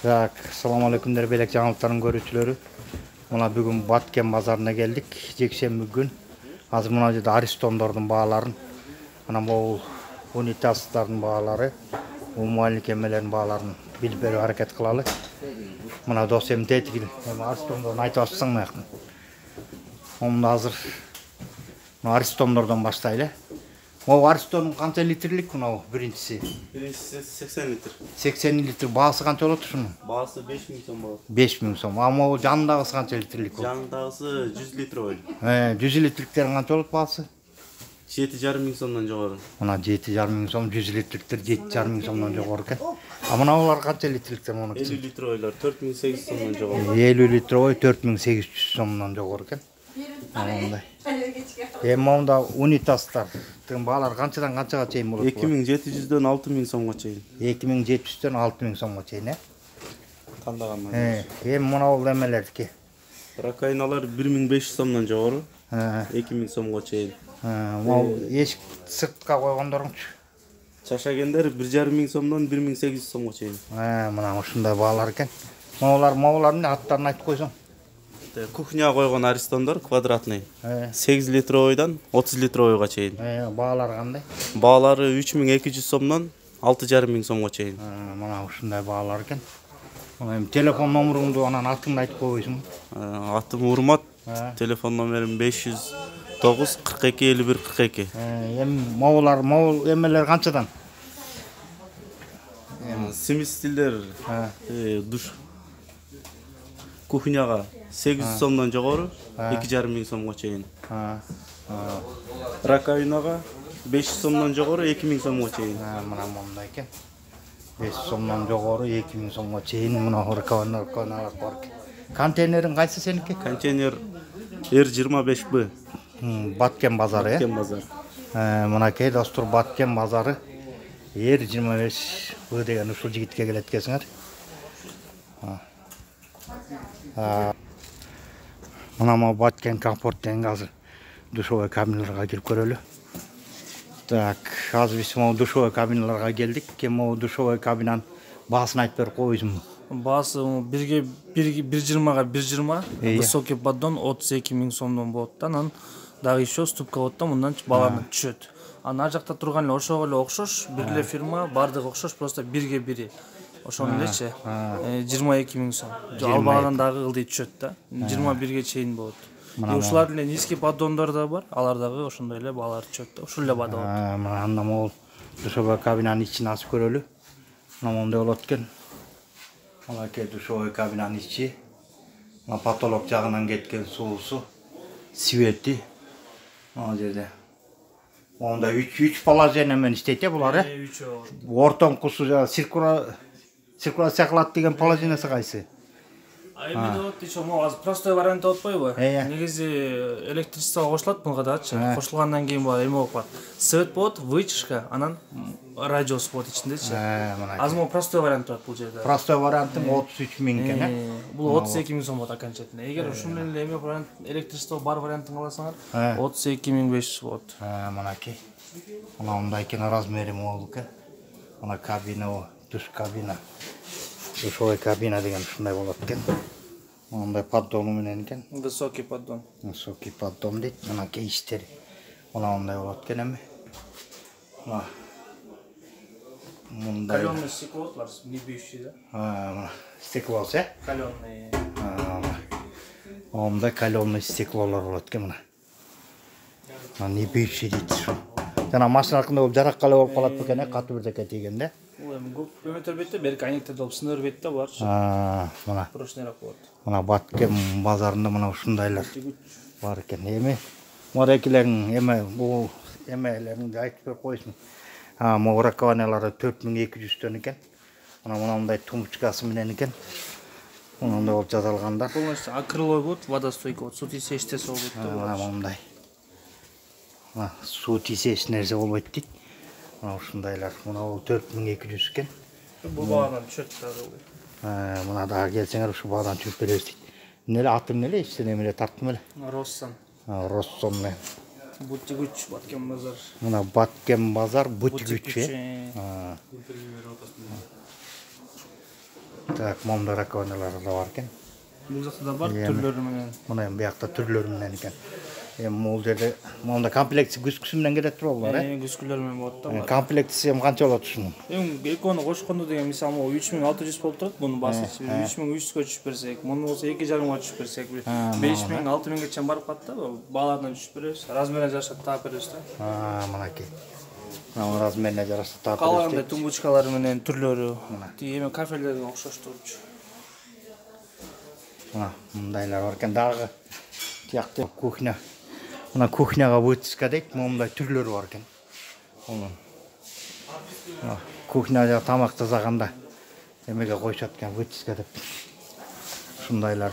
Так, assalamu alaikum белек жаңылыктардын көрүүчүлөрү. Мына бүгүн Баткен базарына келдик. Жекшемби күн. Азыр мына жерде аристондордун бааларын, мына могул унитаздардын баалары, умумалык эмелердин бааларын билип берүүгө аракет кылалы. Мына досем тетигил, аристондордун айтып атсаң мыякын. Онда азыр аристондордон баштайлы. Могу аристонун канча литрлик мына биринчиси? Биринчиси 80 литр. 80 литр. Баасы канча болот ушунун? Баасы 5000 сом болот. 5000 сом. А могу жанындагысы канча литрлик болот? Жанындагысы 100 литр. 100 литрликтерин канча болот баасы? 7,5 сомдон жогору. Мына 7,5 сом, 100 литрликтер 7,5 сомдон жогору экен. А мыналар канча литрликтер муну? 50 литрлер 4800 сомдон жогору. 50 литровой 4800 сомдон жогору экен. Мындай. Эми монда унитаздардын баалары канчадан канчага чейин болот? 2700дөн 6000 сомго чейин. 2700дөн 6000 сомго чейин, Тандаган. Эми мына бул эмелердики. Ракайналар 1500 сомдон жогору. 2000 сомго чейин. Могу эшик сыртка койгондорчу. Чашагендер 1500 сомдон 1800 сомго чейин. Мына ушундай баалар экен. Могулардын аттарын айтып койсоң. Кухняга койгон аристондор квадратный. 8 литровойдон 30 литровойго чейин. Баалары кандай? Баалары 3200 сомдон 6500 сомго чейин. Мына ушундай баалар экен. Эми телефон номеруңду анан атыңды айтып койбойсуңбу? Атым Урмат. Телефон номерим 509 42 51 42. Эми могул эмелер канчадан? Сместилдер душ кухняга 800 сомдон жогору 2500 сомго чейин. Раковинага 500 сомдон жогору 2000 сомго чейин. Мына мондай экен. 500 сомдон жогору 2000 сомго чейин мына раковиналар бар экен. Контейнерин кайсы сеники? Контейнер R25B. Баткен базары, Баткен базар. Мынакей достор Баткен базары R25B деген ушул жигитке келет экенсиңер. Мына Баткен комфорт деген азыр душевой кабиналарга кирип көрөлү. Так, азыр биз могу душевой кабиналарга келдик. Могу душевой кабинанын баасын айтып берип койсуңбу? Баасы бирге 1,20га 1,20, высокий поддон 32 000 сомдон болот да. Анан дагы еще ступка болот да, мындан баалар түшөт. Ар жакта турган эле ошого эле окшош, бир эле фирма, бардыгы окшош, просто бирге бири. Ошону элечи 22 000 сом. Албагандан дагы ылдый түшөт да. 21ге чейин болот. Ушулар эле низкий поддондор да бар, алар дагы ошондой эле баалар түшөт да. Ушул эле баада болот. Анда могул душевой кабинанын ичин ачып көрөлү. Мына мондай болот экен. Мынакей душевой кабинанын ичи. Мына потолок жагынан кеткен суусу, свети. Мына жерде. Онда 3 положение менен иштейт булар, Ортоңкусу циркуляция кылат деген положениясы кайсы? Эми болот еще азыр простой вариант болуп атпайбы? Негизи электричествого кошулат буга дачы. Кошулгандан кийин эме болуп калат. Свет болот, вытяжка, анан радиос болот ичиндечи. Азыр могу простой вариант турат бул жерде. Простой варианттын 33 000 экен, Бул 32 000 сом болот окончательно. Эгер ушул эле эме вариант электричество бар вариантын алсаңар, 32 500 болот. Мынакей. Мына мындай экен, размери могул экен. Мына кабина, душ кабина. Душевой кабина деген ушундай болот экен. Мындай поддону менен экен. Высокий поддон. Высокий поддон дейт. Мынакей иштери. Мына мындай болот экен эми. Мындай. Каленый стекло бар, не бьющий, да? Мына стеклосы, Каленый. Мындай каленый стеклолор болот экен мына. Мына не бьющий дейт ушу. Жана машина аркында болуп жаракка эле болуп калат бекен, катуу бирдеке тийгенде. Көмөтөр бетте, берки айнектерде болуп сыныр бетте бар. Мына. Прошнерак болот. Мына Баткен базарында мына ушундайлар бар экен. Эми морекилерин бул эмелерин айтып берип койсуң. Могу раковиналары 4200дөн экен. Мындай тумбочкасы менен экен. Мындай болуп жасалгандар. Полностью акриловый болот, водостойкий болот, суу тийсе эчтеси болбойт да. Мындай. Суу тийсе эч нерсе болбойт дейт. Мына ушундайлар. Мына бул 4200 экен. Бул баадан түшөт дагы. Мына дагы келсеңер ушу баадан түшүп беребиз дейт. Эмне атың эмне эле, ичтен эмне тарттым эле? Россон. Россон менен. Бутигүч, Баткен базар. Мына Баткен базар, Бутигүч. Так, момда раковиналар да бар экен. Бул жакта да бар түрлөрү менен. Мына эми биякта түрлөрү менен экен. Эми бул жерде момда комплекти күскүсү менен келет турбулар, Күскүлөр менен болот да. Комплектиси эми канча болот ушунун? Эми экөөнү кошкондо деген мисалы 3600 болуп турат. Муну басычы 3300гө түшүп берсек, муну болсо 2,5 түшүп берсек, 5000, 6000ге чейин барып калат да. Баалардан түшүп беребиз. Размерине жараша таап беребиз да. Мынакей. Мына размерине жараша таап беребиз. Калгандай тумбочкалары менен түрлөрү. Эми кафелерге окшош турчу. Мындайлар бар экен. Дагы тиякта кухня. Мына кухняга вытяжка дейт, момундай түрлөрү бар экен. Кухняда тамак тазаганда эмеге коюшат экен, вытяжка деп. Ушундайлар.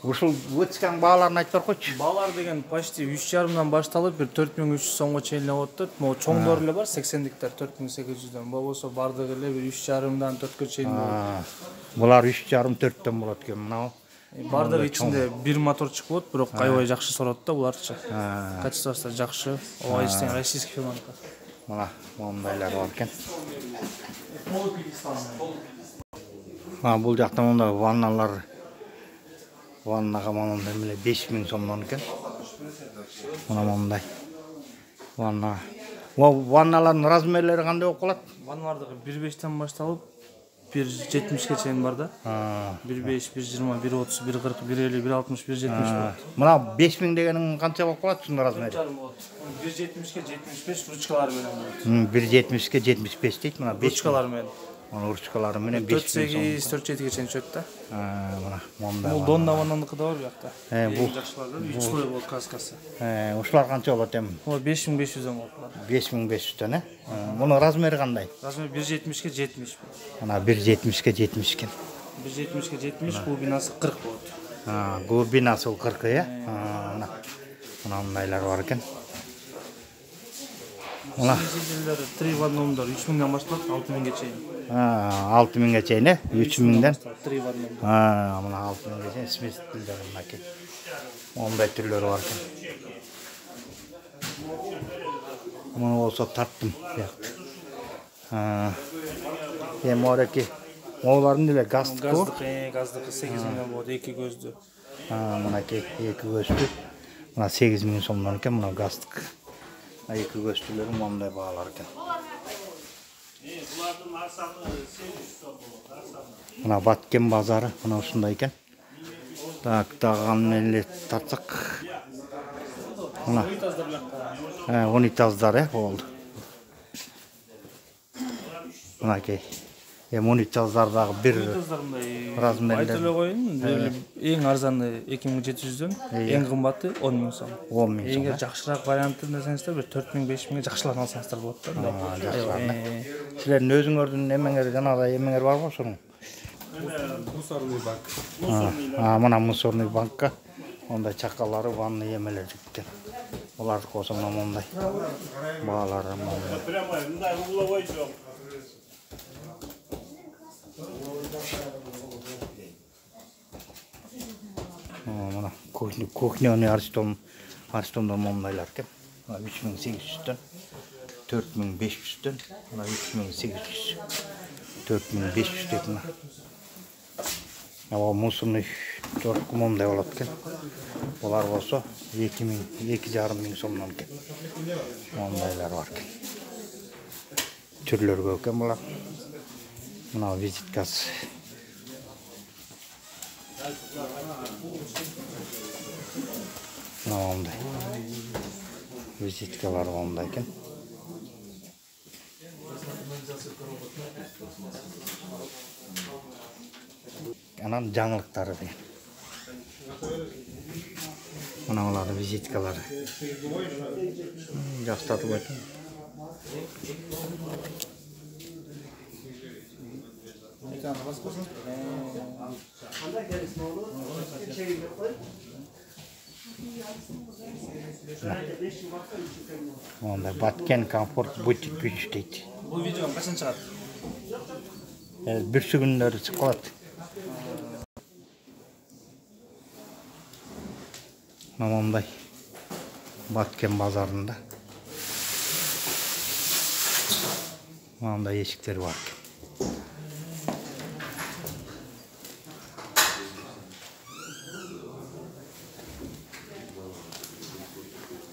Ушул вытяжканын бааларын айтып беркойчу. Баалар деген почти 3,5 башталып, бир 4300 сомго чейин эле болот да. Могу чоңдор эле бар, 80диктер 4800дөн. Болбосо бардыгы эле бир 3,5дан 4кө чейин болот. Булар 3,5-4төн болот экен. Мына бардыгы ичинде бир моторчук болот, бирок аябай жакшы сорот да буларчы. Качествосы да жакшы. Ооба иштен российский фирманыкы. Мына мондайлар бар экен. Бул жакта монда ванналар. Ваннага монда эмне 5000 сомдон экен. Мына мондай. Ванна. Ванналардын размерлери кандай болуп калат? Ванналардыгы 1,5тен башталып 1,70ге чейин бар да. 1,5, 1,20, 1,30, 1,40, 1,50, 1,60, 1,70 болот. Мына 5000 дегениң канча болуп калат ушунун размери? 1,70ге 75 ручкалары менен болот. 1,70ге 75 дейт. Мына 5 ручкалары менен. Мына ручкалары менен 5000 сом. 4,8-4,7ге чейин түшөт да. Мына монда. Бул Донна ваннаныкы да бар бuyakta. Бул жакшылар 3 слой болот каскасы. Ушулар канча болот эми? Бул 5500 болот. 5500дөн, Мунун размери кандай? Размери 1,70ге 70. Мына 1,70ге 70 экен. 1,70ге 70, глубинасы 40 болот. Глубинасы 40, Мына мындайлар бар экен. Мына Силдер 3 в одномдор 3000ден башталат 6000ге чейин. 6000ге чейин, 3000ден. 3 в одном. Мына 6000ге чейин смесителдер мынакей. Мондай түрлөрү бар экен. Муну болсо тарттым биякта. Эми ореки могулардын эле газдыкы. Газдыкы 8000 болот, 2 көздү. Мынакей 2 көздү. Мына 8000 сомдон экен, мына газдык. 2 көздүлөр мондай баалар экен. Мына Баткен базары мына ушундай экен. Так, дагы эле тартсак. Мына унитаздар болду. Мынакей. Унитаздар дагы бир размерде. Айтып эле коеюн, эң арзаны 2700дөн, эң кымбаты 10000 сом. 10000 сом. Эң жакшыраак вариантын десеңиздер бир 4000-5000ге жакшыларын алсаңыздар болот да. Жакшылар. Силердин өзүңөрдүн эмеңер жанагы эмеңер барбы ошонун? Мусорный бак. Мына мусорный банкка ондай чакалары, ванный эмелер экен. Буларды койсо мына мондай баалары. Прямо мындай угловой жок. Мына кухняны Аристомдон мондайлар экен. 3800дөн, 4500дөн, мына 3800, 4500 дейт мына. Мусорный жорку мондай болот экен. Булар болсо 2000, 2,5 сомдон экен. Мондайлар бар экен. Түрлөр көп экен булар. Мына визиткасы. Мына мондай. Визиткалар мондай экен. Анан жаңылыктары деген. Мына булардын визиткалары. Жактатып коydum. Онда Баткен комфорт бутик күч дейт. Бул видео качан чыгат? Бир күндөр чыгып калат. Мондай Баткен базарында. Мондай эшиктер бар.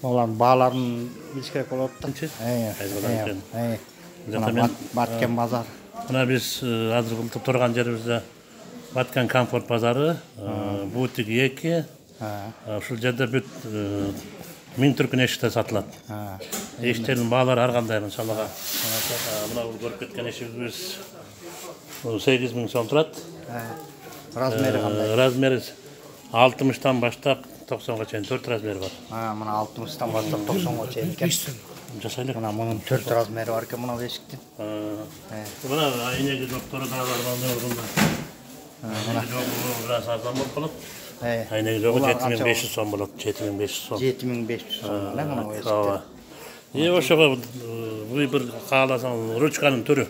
Олардын бааларын билиш керек болот да. Мен Баткен базар. мына биз азыр кылтып турган жерибизде Баткен комфорт базары, бутик 2. Ушул жерде бүт 1000 түркүн эшикте сатылат. Эшиктердин баалары ар кандай мисалга. Мына бул көрүп кеткен эшигибиз 8000 сом турат. Размери кандай? Размери 60тан баштап 90га чейин 4 размери бар. Мына 60тан баштап 90га чейин экен. Жасайлык. Мына мунун 4 размери бар экен мына эшиктин. Мына айнеги доктору да бар мында. Мына biraz арзан болуп калат. Айнеги жогу 7500 сом болот. 7500 сом. 7500 сом мына эшиктер. Ошого бул бир кааласаң ручканын түрү.